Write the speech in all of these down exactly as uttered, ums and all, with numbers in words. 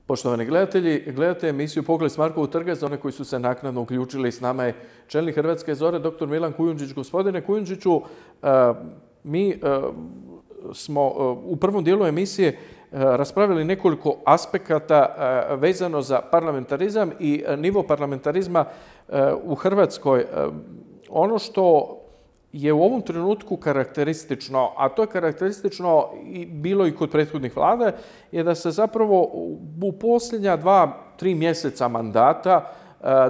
Poštovani gledatelji, gledate emisiju Pogled s Markovog trga. Za one koji su se naknadno uključili, s nama je čelnik Hrvatske zore, doktor Milan Kujundžić. Gospodine Kujundžiću, mi smo u prvom dijelu emisije raspravili nekoliko aspekata vezano za parlamentarizam i nivo parlamentarizma u Hrvatskoj. Ono što je u ovom trenutku karakteristično, a to je karakteristično i bilo i kod prethodnih vlada, je da se zapravo u posljednja dva, tri mjeseca mandata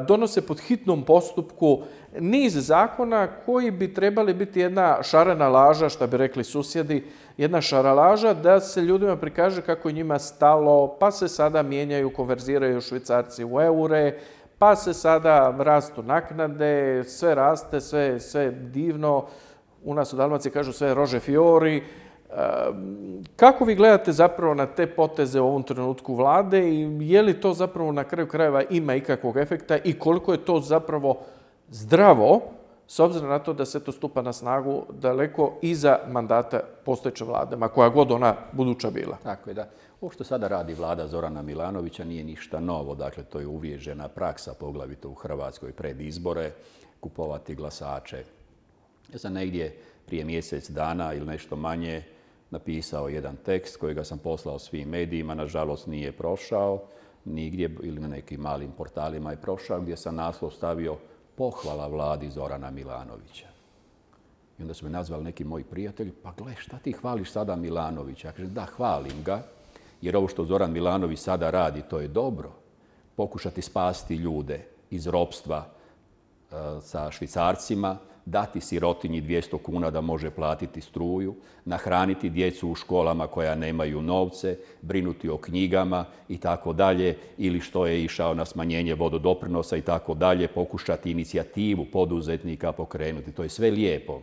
donose pod hitnom postupku niz zakona koji bi trebali biti jedna šarena laža, što bi rekli susjedi, jedna šaralaža da se ljudima prikaže kako je njima stalo, pa se sada mijenjaju, konverziraju švicarci u eure, pa se sada rastu naknade, sve raste, sve, sve divno. U nas u Dalmaciji kažu sve rože fiori. Kako vi gledate zapravo na te poteze u ovom trenutku vlade i je li to zapravo na kraju krajeva ima ikakvog efekta i koliko je to zapravo zdravo, s obzirom na to da se to stupa na snagu daleko iza mandata postojeće vlade, ma koja god ona buduća bila? Tako je, da. Ovo što sada radi vlada Zorana Milanovića nije ništa novo. Dakle, to je uvriježena praksa, poglavito u Hrvatskoj, pred izbore, kupovati glasače. Ja sam negdje prije mjesec dana ili nešto manje napisao jedan tekst kojega sam poslao svim medijima, nažalost nije prošao nigdje ili na nekim malim portalima je prošao, gdje sam naslov stavio pohvala vladi Zorana Milanovića. I onda su me nazvali neki moji prijatelji, pa gle, šta ti hvališ sada Milanovića? Ja kažem, da, hvalim ga, jer ovo što Zoran Milanović sada radi, to je dobro. Pokušati spasti ljude iz ropstva e, sa švicarcima, dati sirotinji dvjesto kuna da može platiti struju, nahraniti djecu u školama koja nemaju novce, brinuti o knjigama i tako dalje, ili što je išao na smanjenje vododoprinosa i tako dalje, pokušati inicijativu poduzetnika pokrenuti. To je sve lijepo.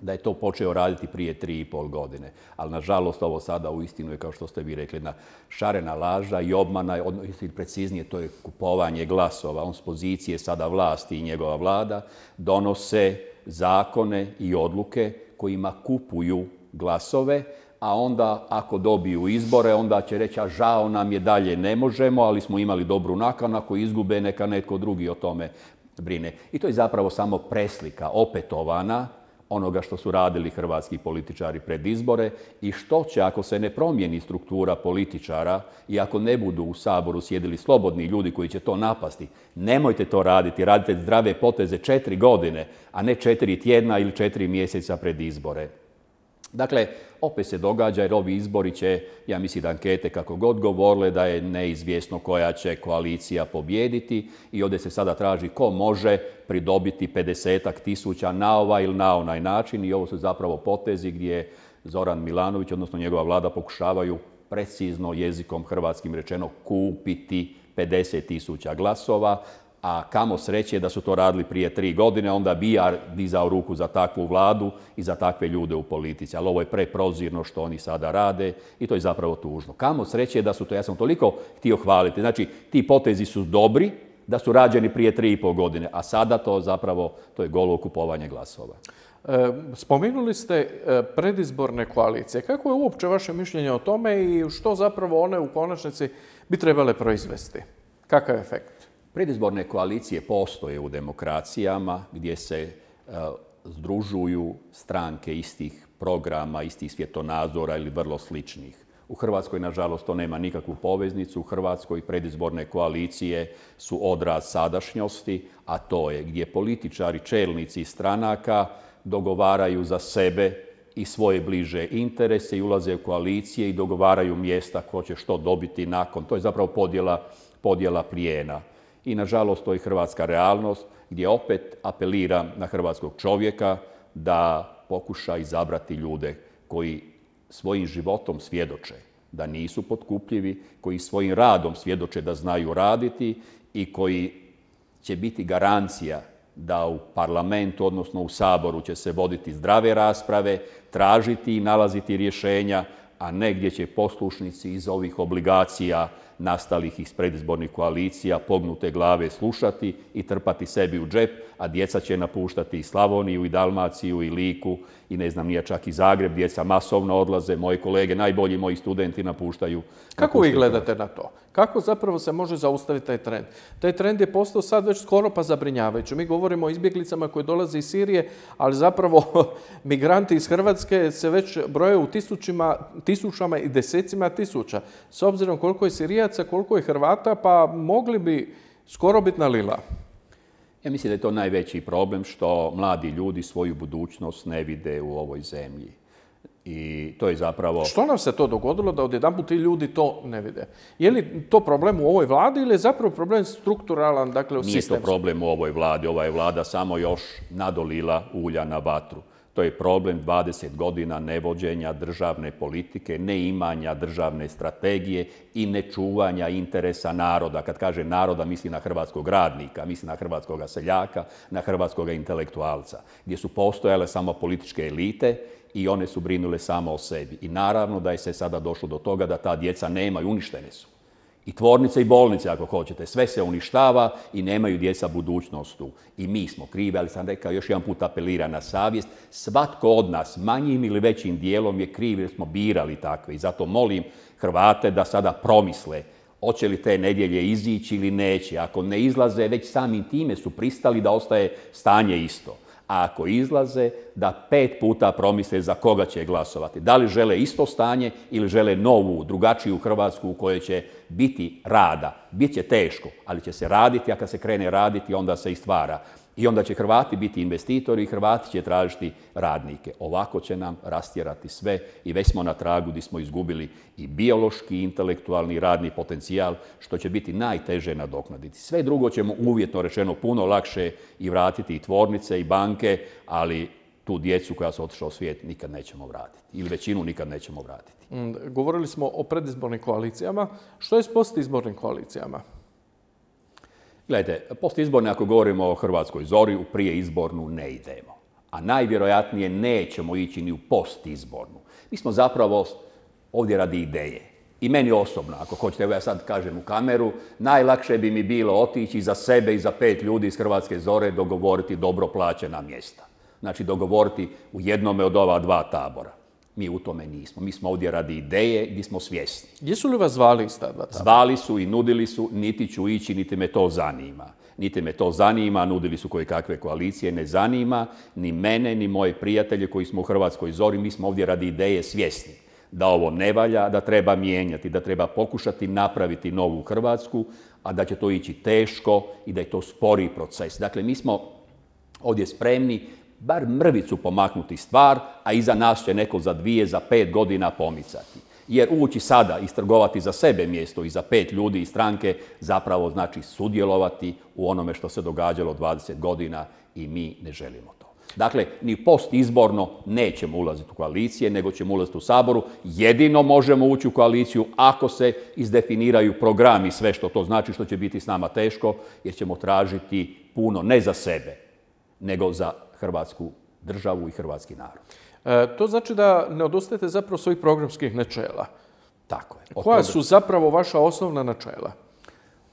Da je to počeo raditi prije tri i pol godine. Ali, nažalost, ovo sada uistinu je, kao što ste vi rekli, jedna šarena laža i obmana, odnosno preciznije, to je kupovanje glasova. On s pozicije sada vlasti i njegova vlada donose zakone i odluke kojima kupuju glasove, a onda ako dobiju izbore, onda će reći, a žao nam je, dalje ne možemo, ali smo imali dobru nakanu, ako izgube, neka netko drugi o tome brine. I to je zapravo samo preslika opetovana onoga što su radili hrvatski političari pred izbore i što će ako se ne promijeni struktura političara i ako ne budu u Saboru sjedili slobodni ljudi koji će to napasti. Nemojte to raditi, radite zdrave poteze četiri godine, a ne četiri tjedna ili četiri mjeseca pred izbore. Dakle, opet se događa jer ovi izbori će, ja mislim da ankete kako god govorile, da je neizvjesno koja će koalicija pobijediti i ovdje se sada traži ko može pridobiti pedesetak tisuća na ovaj ili na onaj način i ovo su zapravo potezi gdje Zoran Milanović, odnosno njegova vlada, pokušavaju precizno jezikom hrvatskim rečeno kupiti pedeset tisuća glasova, a kamo sreće da su to radili prije tri godine, onda bi ja dizao ruku za takvu vladu i za takve ljude u politici. Ali ovo je preprozirno što oni sada rade i to je zapravo tužno. Kamo sreće da su to, ja sam toliko htio hvaliti. Znači, ti potezi su dobri, da su rađeni prije tri i pol godine, a sada to zapravo, to je golo kupovanje glasova. E, spomenuli ste predizborne koalicije. Kako je uopće vaše mišljenje o tome i što zapravo one u konačnici bi trebale proizvesti? Kakav je efekt? Predizborne koalicije postoje u demokracijama gdje se uh, združuju stranke istih programa, istih svjetonazora ili vrlo sličnih. U Hrvatskoj, nažalost, to nema nikakvu poveznicu. U Hrvatskoj predizborne koalicije su odraz sadašnjosti, a to je gdje političari, čelnici stranaka dogovaraju za sebe i svoje bliže interese i ulaze u koalicije i dogovaraju mjesta ko će što dobiti nakon. To je zapravo podjela, podjela plijena. I nažalost to je hrvatska realnost gdje opet apeliram na hrvatskog čovjeka da pokuša izabrati ljude koji svojim životom svjedoče da nisu potkupljivi, koji svojim radom svjedoče da znaju raditi i koji će biti garancija da u parlamentu, odnosno u Saboru će se voditi zdrave rasprave, tražiti i nalaziti rješenja, a ne gdje će poslušnici iz ovih obligacija nastalih iz predizbornih koalicija pognute glave slušati i trpati sebi u džep, a djeca će napuštati i Slavoniju, i Dalmaciju, i Liku, i ne znam, nije čak i Zagreb, djeca masovno odlaze, moji kolege, najbolji moji studenti napuštaju. Kako vi gledate na to? Kako zapravo se može zaustaviti taj trend? Taj trend je postao sad već skoro pa zabrinjavajući. Mi govorimo o izbjeglicama koje dolaze iz Sirije, ali zapravo migranti iz Hrvatske se već broje u tisućima, tisućama i desecima tisuća. S obzirom koliko je Sirijaca, koliko je Hrvata, pa mogli bi skoro biti na lila. Ja mislim da je to najveći problem što mladi ljudi svoju budućnost ne vide u ovoj zemlji. I to je zapravo... Što nam se to dogodilo da odjedanput ti ljudi to ne vide? Je li to problem u ovoj vladi ili je zapravo problem strukturalan, dakle u sistemu? Nije to problem u ovoj vladi. Ova je vlada samo još nadolila ulja na vatru. To je problem dvadeset godina nevođenja državne politike, neimanja državne strategije i nečuvanja interesa naroda. Kad kaže naroda, misli na hrvatskog radnika, misli na hrvatskog seljaka, na hrvatskog intelektualca, gdje su postojale samo političke elite i one su brinule samo o sebi. I naravno da je se sada došlo do toga da ta djeca nemaju, uništene su. I tvornice i bolnice, ako hoćete, sve se uništava i nemaju djeca budućnost tu. I mi smo krivi, ali sam rekao, još jedan put apelira na savjest. Svatko od nas, manjim ili većim dijelom, je kriv jer smo birali takve. I zato molim Hrvate da sada promisle hoće li te nedjelje izići ili neće. Ako ne izlaze, već samim time su pristali da ostaje stanje isto. A ako izlaze, da pet puta promisle za koga će glasovati. Da li žele isto stanje ili žele novu, drugačiju Hrvatsku u kojoj će biti rada. Biće teško, ali će se raditi, a kad se krene raditi, onda se i stvara. I onda će Hrvati biti investitori i Hrvati će tražiti radnike. Ovako će nam rastjerati sve i već smo na tragu gdje smo izgubili i biološki, i intelektualni, i radni potencijal, što će biti najteže nadoknaditi. Sve drugo ćemo uvjetno rečeno puno lakše i vratiti i tvornice i banke, ali tu djecu koja su otišla u svijet nikad nećemo vratiti. Ili većinu nikad nećemo vratiti. Govorili smo o predizbornim koalicijama. Što je s postizbornim koalicijama? Gledajte, postizborne, ako govorimo o Hrvatskoj zori, u prijeizbornu ne idemo. A najvjerojatnije nećemo ići ni u postizbornu. Mi smo zapravo ovdje radi ideje. I meni osobno, ako hoćete, evo ja sad kažem u kameru, najlakše bi mi bilo otići za sebe i za pet ljudi iz Hrvatske zore dogovoriti dobro plaćena mjesta. Znači dogovoriti u jednome od ova dva tabora. Mi u tome nismo. Mi smo ovdje radi ideje gdje smo svjesni. Jesu li vas zvali iz ta dva tabora? Zvali su i nudili su, niti ću ići, niti me to zanima. Niti me to zanima, nudili su koje kakve koalicije, ne zanima ni mene, ni moje prijatelje koji smo u Hrvatskoj zori. Mi smo ovdje radi ideje svjesni da ovo ne valja, da treba mijenjati, da treba pokušati napraviti novu Hrvatsku, a da će to ići teško i da je to spori proces. Dakle, mi smo ovdje spremni bar mrvicu pomaknuti stvar, a iza nas će neko za dvije, za pet godina pomicati. Jer ući sada, istrgovati za sebe mjesto i za pet ljudi iz stranke, zapravo znači sudjelovati u onome što se događalo dvadeset godina i mi ne želimo to. Dakle, ni postizborno nećemo ulaziti u koalicije, nego ćemo ulaziti u Saboru. Jedino možemo ući u koaliciju ako se izdefiniraju programi, sve što to znači, što će biti s nama teško, jer ćemo tražiti puno ne za sebe, nego za Hrvatsku državu i hrvatski narod. E, to znači da ne odustajete zapravo svojih programskih načela. Tako je. Koja toga... su zapravo vaša osnovna načela?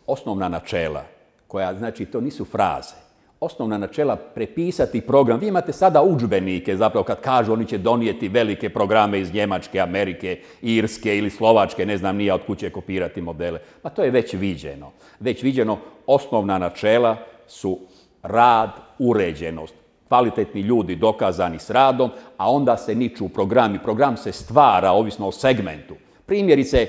Osnovna načela, koja znači to nisu fraze. Osnovna načela prepisati program. Vi imate sada udžbenike, zapravo kad kažu oni će donijeti velike programe iz Njemačke, Amerike, Irske ili Slovačke, ne znam nija od kuće kopirati modele. Pa to je već viđeno. Već viđeno, osnovna načela su rad, uređenost, kvalitetni ljudi dokazani s radom, a onda se niču programi. Program se stvara ovisno o segmentu. Primjerice,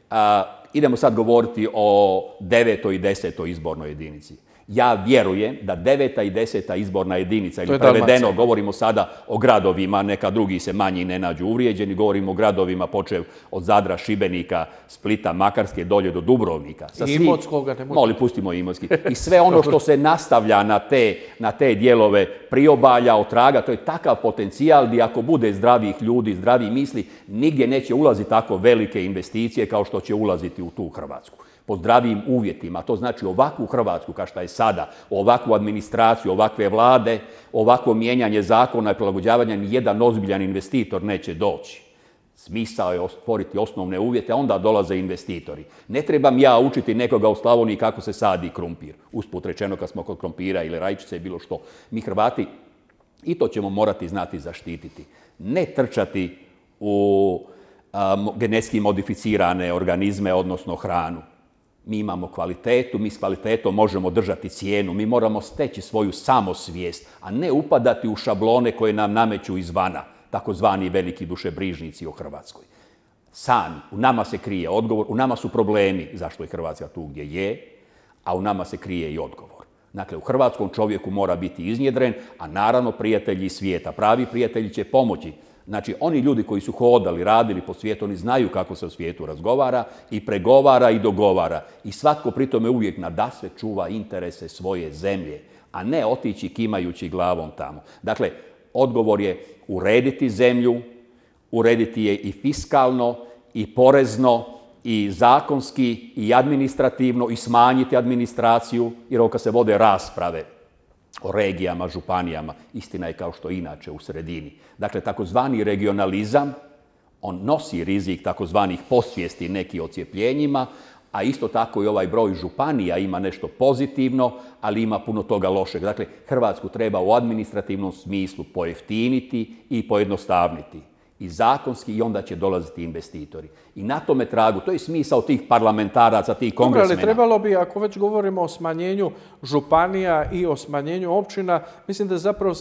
a, idemo sad govoriti o devetoj i desetoj izbornoj jedinici. Ja vjerujem da deveta i deseta izborna jedinica, ili prevedeno, govorimo sada o gradovima, neka drugi se manji ne nađu uvrijeđeni, govorimo o gradovima počev od Zadra, Šibenika, Splita, Makarske, dolje do Dubrovnika. Sa I Imotskoga ne može. Moli, pustimo Imotski. I sve ono što se nastavlja na te, na te dijelove priobalja, otraga, to je takav potencijal gdje ako bude zdravih ljudi, zdravih misli, nigdje neće ulaziti tako velike investicije kao što će ulaziti u tu Hrvatsku. Po zdravim uvjetima. To znači ovakvu Hrvatsku kao što je sada, ovakvu administraciju, ovakve vlade, ovakvo mijenjanje zakona i prilagođavanja, nijedan ozbiljan investitor neće doći. Smisao je stvoriti osnovne uvjete, a onda dolaze investitori. Ne trebam ja učiti nekoga u Slavoniji kako se sadi krumpir. Usput rečeno kad smo kod krumpira ili rajčice, bilo što. Mi Hrvati I to ćemo morati znati zaštititi. Ne trčati u um, genetski modificirane organizme, odnosno hranu. Mi imamo kvalitetu, mi s kvalitetom možemo držati cijenu, mi moramo steći svoju samosvijest, a ne upadati u šablone koje nam nameću izvana, takozvani veliki dušebrižnici o Hrvatskoj. Sami, u nama se krije odgovor, u nama su problemi zašto je Hrvatska tu gdje je, a u nama se krije i odgovor. Dakle, u hrvatskom čovjeku mora biti iznjedren, a naravno prijatelji svijeta. Pravi prijatelji će pomoći. Znači, oni ljudi koji su hodali, radili po svijetu, oni znaju kako se u svijetu razgovara i pregovara i dogovara. I svatko pri tome uvijek nadasve čuva interese svoje zemlje, a ne otići kimajući glavom tamo. Dakle, odgovor je urediti zemlju, urediti je i fiskalno, i porezno, i zakonski, i administrativno, i smanjiti administraciju, jer ovo kad se vode rasprave o regijama, županijama, istina je kao što inače u sredini. Dakle, takozvani regionalizam, on nosi rizik takozvanih posvijesti neki ocijepljenjima, a isto tako i ovaj broj županija ima nešto pozitivno, ali ima puno toga lošeg. Dakle, Hrvatsku treba u administrativnom smislu pojeftiniti i pojednostavniti. I zakonski, i onda će dolaziti investitori. I na tome tragu, to je smisao tih parlamentaraca, tih kongresmena. Dobro, ali trebalo bi, ako već govorimo o smanjenju županija i o smanjenju općina, mislim da zapravo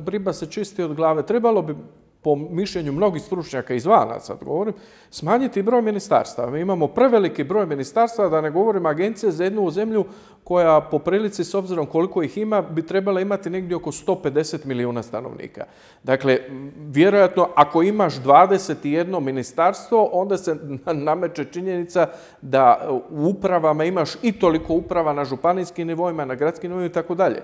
riba se čisti od glave. Trebalo bi, po mišljenju mnogih stručnjaka izvana, sad govorim, smanjiti broj ministarstava. Mi imamo preveliki broj ministarstava, da ne govorim agencije za jednu zemlju koja po prilici, s obzirom koliko ih ima, bi trebala imati negdje oko sto pedeset milijuna stanovnika. Dakle, vjerojatno, ako imaš dvadeset jedno ministarstvo, onda se nameće činjenica da u upravama imaš i toliko uprava na županijskim nivoima, na gradskim nivoima i tako dalje.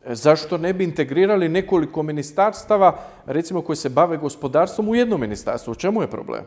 Zašto ne bi integrirali nekoliko ministarstava, recimo, koji se bave gospodarstvom u jedno ministarstvo? U čemu je problem?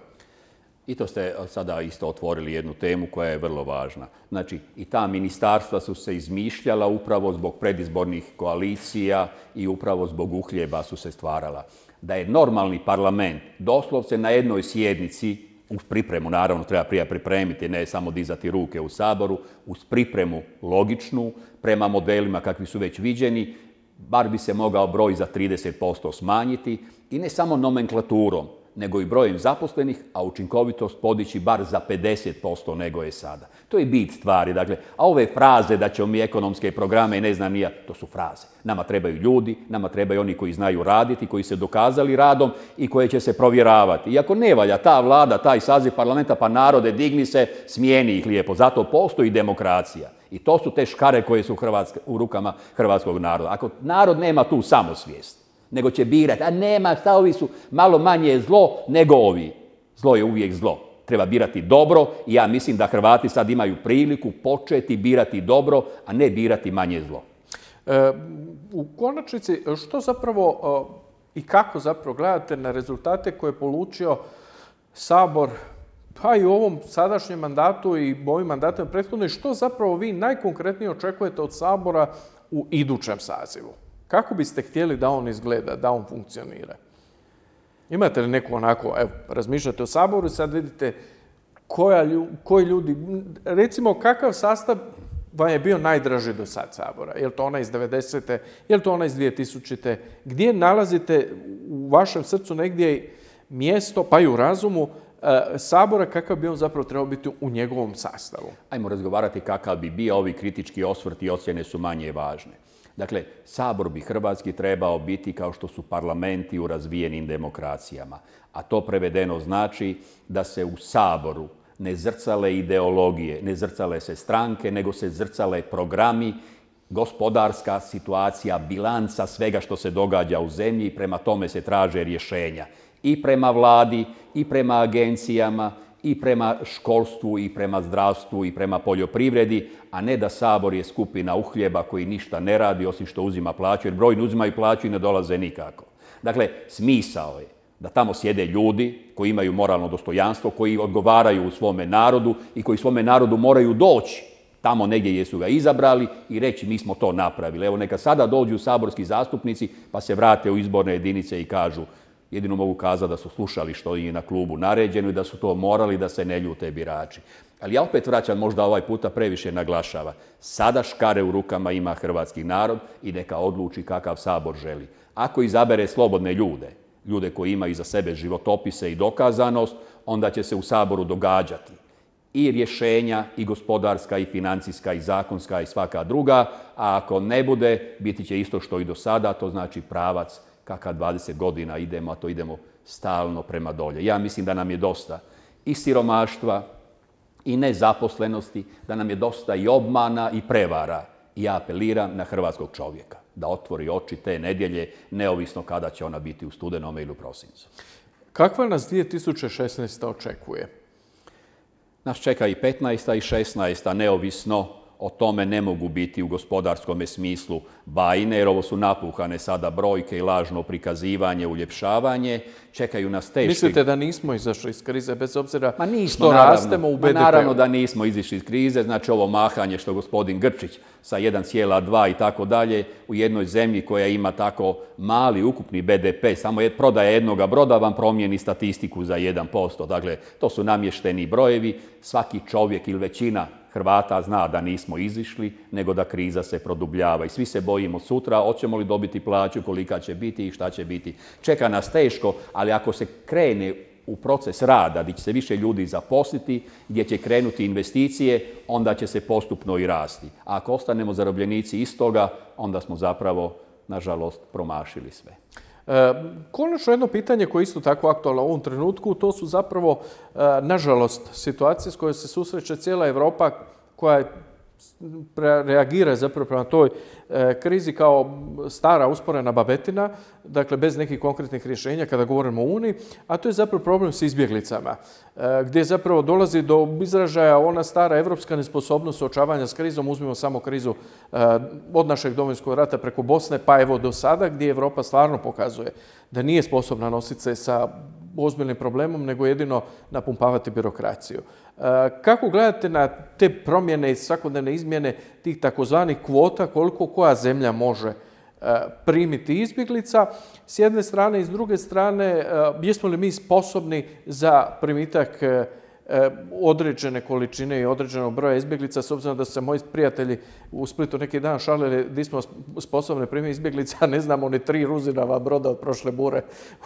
I to ste sada isto otvorili jednu temu koja je vrlo važna. Znači, i ta ministarstva su se izmišljala upravo zbog predizbornih koalicija i upravo zbog uhljeba su se stvarala. Da je normalni parlament doslovce na jednoj sjednici, uz pripremu, naravno treba prije pripremiti, ne samo dizati ruke u Saboru, uz pripremu logičnu, prema modelima kakvi su već viđeni, bar bi se mogao broj za trideset posto smanjiti i ne samo nomenklaturom, nego i brojem zaposlenih, a učinkovitost podići bar za pedeset posto nego je sada. To je bit stvari. Dakle, a ove fraze da ćemo mi ekonomske programe i ne znam nija, to su fraze. Nama trebaju ljudi, nama trebaju oni koji znaju raditi, koji se dokazali radom i koje će se provjeravati. I ako ne valja ta vlada, taj saziv parlamenta, pa narode, digni se, smijeni ih lijepo. Zato postoji demokracija. I to su te škare koje su Hrvatske, u rukama hrvatskog naroda. Ako narod nema tu samosvijest, nego će birati, a nema, šta ovi su malo manje zlo nego ovi. Zlo je uvijek zlo. Treba birati dobro i ja mislim da Hrvati sad imaju priliku početi birati dobro, a ne birati manje zlo. E, u konačnici, što zapravo i kako zapravo gledate na rezultate koje je polučio Sabor, pa i u ovom sadašnjem mandatu i ovim mandatom prethodno, i što zapravo vi najkonkretnije očekujete od Sabora u idućem sazivu? Kako biste htjeli da on izgleda, da on funkcionira? Imate li neko onako, evo, razmišljate o Saboru i sad vidite koja, koji ljudi, recimo kakav sastav vam je bio najdraži do sad Sabora? Je li to ona iz devedesete, je li to ona iz dvije tisućite? Gdje nalazite u vašem srcu negdje mjesto, pa i u razumu, Sabora, kakav bi on zapravo trebao biti u njegovom sastavu? Ajmo razgovarati kakav bi bio, ovi kritički osvrti i ocjene su manje važne. Dakle, Sabor bi hrvatski trebao biti kao što su parlamenti u razvijenim demokracijama. A to prevedeno znači da se u Saboru ne zrcale ideologije, ne zrcale se stranke, nego se zrcale programi, gospodarska situacija, bilanca svega što se događa u zemlji i prema tome se traže rješenja. I prema vladi, i prema agencijama, i prema školstvu, i prema zdravstvu, i prema poljoprivredi, a ne da Sabor je skupina uhljeba koji ništa ne radi osim što uzima plaću, jer brojni uzimaju plaću i ne dolaze nikako. Dakle, smisao je da tamo sjede ljudi koji imaju moralno dostojanstvo, koji odgovaraju u svome narodu i koji svome narodu moraju doći tamo negdje gdje su ga izabrali i reći mi smo to napravili. Evo, neka sada dođu saborski zastupnici pa se vrate u izborne jedinice i kažu jedino mogu kazati da su slušali što im je na klubu naređeno i da su to morali da se ne ljute birači. Ali ja opet vraćam, možda ovaj puta previše naglašava. Sada škare u rukama ima hrvatski narod i neka odluči kakav Sabor želi. Ako izabere slobodne ljude, ljude koji imaju iza sebe životopise i dokazanost, onda će se u Saboru događati i rješenja, i gospodarska, i financijska, i zakonska, i svaka druga, a ako ne bude, biti će isto što i do sada, to znači pravac kakav dvadeset godina idemo, a to idemo stalno prema dolje. Ja mislim da nam je dosta i siromaštva, i nezaposlenosti, da nam je dosta i obmana i prevara. I ja apeliram na hrvatskog čovjeka da otvori oči te nedjelje, neovisno kada će ona biti u studenome ili u prosincu. Kakva nas dvije tisuće šesnaesta. očekuje? Nas čeka i petnaesta i šesnaesta. neovisno o tome ne mogu biti u gospodarskom smislu bajne, jer ovo su napuhane sada brojke i lažno prikazivanje, uljepšavanje. Čekaju nas teški... Mislite da nismo izašli iz krize bez obzira ma nismo, što naravno, rastemo u be de pe-u? Naravno da nismo izišli iz krize, znači ovo mahanje što gospodin Grčić sa jedan zarez dva i tako dalje u jednoj zemlji koja ima tako mali ukupni be de pe, samo je prodaja jednoga broda vam promijeni statistiku za jedan posto. Dakle, to su namješteni brojevi. Svaki čovjek ili većina Hrvata zna da nismo izišli, nego da kriza se produbljava. I svi se bojimo sutra, hoćemo li dobiti plaću, kolika će biti i šta će biti. Čeka nas teško, ali ako se krene u proces rada, gdje će se više ljudi zaposliti, gdje će krenuti investicije, onda će se postupno i rasti. A ako ostanemo zarobljenici istoga, onda smo zapravo, nažalost, promašili sve. E, konačno jedno pitanje koje je isto tako aktualno u ovom trenutku, to su zapravo, e, nažalost, situacije s kojoj se susreće cijela Europa koja reagira zapravo prema toj e, krizi kao stara usporena babetina, dakle bez nekih konkretnih rješenja kada govorimo o Uniji, a to je zapravo problem s izbjeglicama, e, gdje zapravo dolazi do izražaja ona stara evropska nesposobnost suočavanja s krizom. Uzmimo samo krizu e, od našeg Domovinskog rata preko Bosne, pa evo do sada, gdje Europa stvarno pokazuje da nije sposobna nositi se sa ozbiljnim problemom, nego jedino napumpavati birokraciju. Kako gledate na te promjene i svakodnevne izmjene tih takozvanih kvota, koliko koja zemlja može primiti izbjeglica s jedne strane i s druge strane, jesmo li mi sposobni za primitak određene količine i određenog broja izbjeglica, s obzirom da su se moji prijatelji u Splitu neki dan šalili da smo sposobni primiti izbjeglica, a ne znamo ni tri Ruzinava broda od prošle bure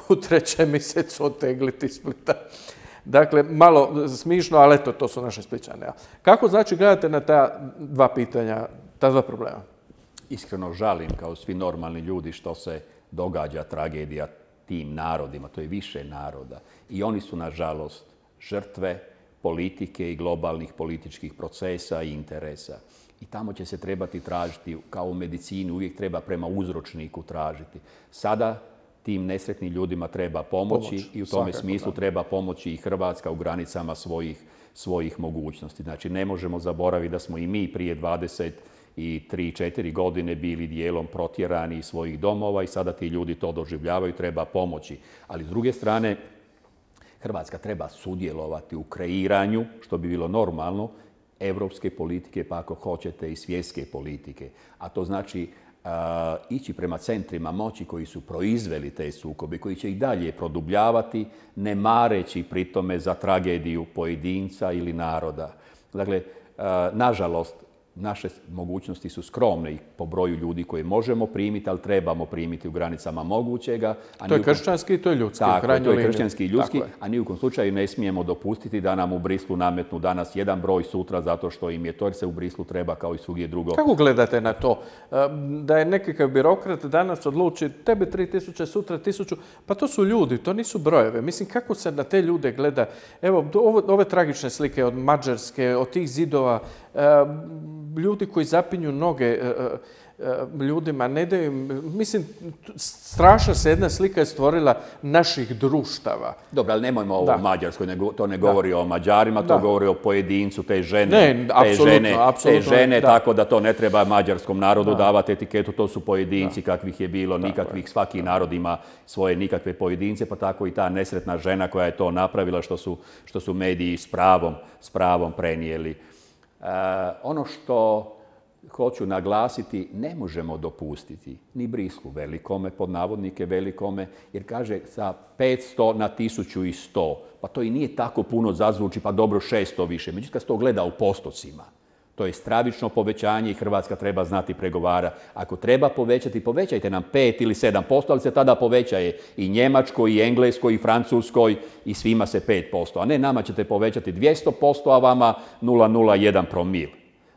u trećem mjesecu otegliti Splita. Dakle, malo smišno, ali eto, to su naše Splićane. Kako znači gledate na ta dva pitanja, ta dva problema? Iskreno žalim, kao svi normalni ljudi, što se događa tragedija tim narodima. To je više naroda. I oni su, nažalost, žrtve politike i globalnih političkih procesa i interesa. I tamo će se trebati tražiti, kao u medicini, uvijek treba prema uzročniku tražiti. Sada tim nesretnim ljudima treba pomoći Pomoć, i u tome smislu da. treba pomoći i Hrvatska u granicama svojih, svojih mogućnosti. Znači, ne možemo zaboraviti da smo i mi prije dvadeset tri četiri godine bili dijelom protjerani iz svojih domova i sada ti ljudi to doživljavaju, treba pomoći. Ali s druge strane, Hrvatska treba sudjelovati u kreiranju, što bi bilo normalno, evropske politike, pa ako hoćete i svjetske politike. A to znači uh, ići prema centrima moći koji su proizveli te sukobe, koji će ih dalje produbljavati, ne mareći pritome za tragediju pojedinca ili naroda. Dakle, uh, nažalost, naše mogućnosti su skromne i po broju ljudi koje možemo primiti, ali trebamo primiti u granicama mogućega. A to je kršćanski i to je ljudski. Tako, to je kršćanski i ljudski, a ni u kom slučaju ne smijemo dopustiti da nam u Brislu nametnu danas jedan broj, sutra zato što im je to, jer se u Brislu treba kao i svugdje drugo. Kako gledate na to? Da je nekakav birokrat danas odluči tebe tri tisuće, sutra tisuću, pa to su ljudi, to nisu brojeve. Mislim, kako se na te ljude gleda? Evo, ove tragične slike od Mađarske, od tih zidova, ljudi koji zapinju noge ljudima, ne daju im, mislim, strašna se jedna slika je stvorila naših društava. Dobro, ali nemojmo ovo o Mađarskoj, to ne govori da. o Mađarima, to da. govori o pojedincu, te žene, ne, te apsolutno, žene, apsolutno, te žene da. tako da to ne treba mađarskom narodu da. davati etiketu, to su pojedinci da. kakvih je bilo, da, nikakvih, svaki da. narod ima svoje nikakve pojedince, pa tako i ta nesretna žena koja je to napravila, što su, što su mediji s pravom, s pravom prenijeli. Uh, ono što hoću naglasiti, ne možemo dopustiti ni brislu velikome, pod navodnike velikome, jer kaže sa petsto na tisuću sto. Pa to i nije tako puno, zazvuči, pa dobro šesto više. Međutim, kad se to gleda u postocima, to je stravično povećanje i Hrvatska treba znati pregovara. Ako treba povećati, povećajte nam pet ili sedam posto, ali se tada povećaje i Njemačkoj, i Engleskoj, i Francuskoj, i svima se pet posto. A ne, nama ćete povećati dvjesto posto, a vama nula zarez nula jedan promil.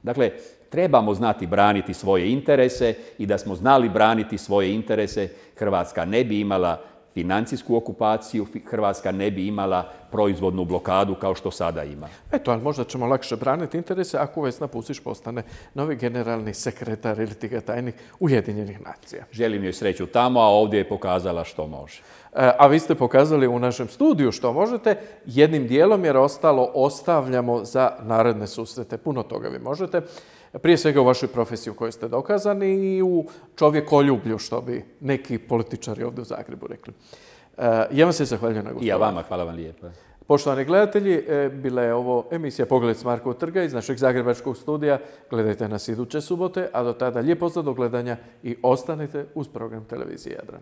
Dakle, trebamo znati braniti svoje interese i da smo znali braniti svoje interese, Hrvatska ne bi imala financijsku okupaciju, Hrvatska ne bi imala proizvodnu blokadu kao što sada ima. Eto, ali možda ćemo lakše braniti interese ako Vesna Pusić postane novi generalni sekretar ili ti ga tajnik Ujedinjenih nacija. Želim joj sreću tamo, a ovdje je pokazala što može. A vi ste pokazali u našem studiju što možete, jednim dijelom jer ostalo ostavljamo za naredne susrete. Puno toga vi možete. Prije svega u vašoj profesiji u kojoj ste dokazani i u čovjekoljublju, što bi neki političari ovdje u Zagrebu rekli. Ja vam se zahvaljujem na gostovanju. I ja vama, hvala vam lijepo. Poštovani gledatelji, bila je ovo emisija Pogled s Markovog trga iz našeg zagrebačkog studija. Gledajte nas iduće subote, a do tada lijep pozdrav do gledanja i ostanite uz program televizije Jadran.